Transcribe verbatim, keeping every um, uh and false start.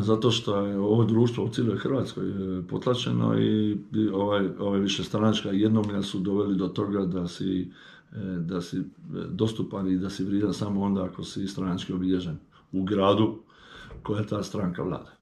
zato što je ovo društvo u cijeloj Hrvatskoj potlačeno i ovaj, ovaj višestranačka jednomlja su doveli do toga da si, da si dostupan i da si vrijedan samo onda ako si stranački obilježen u gradu koja ta stranka vlada.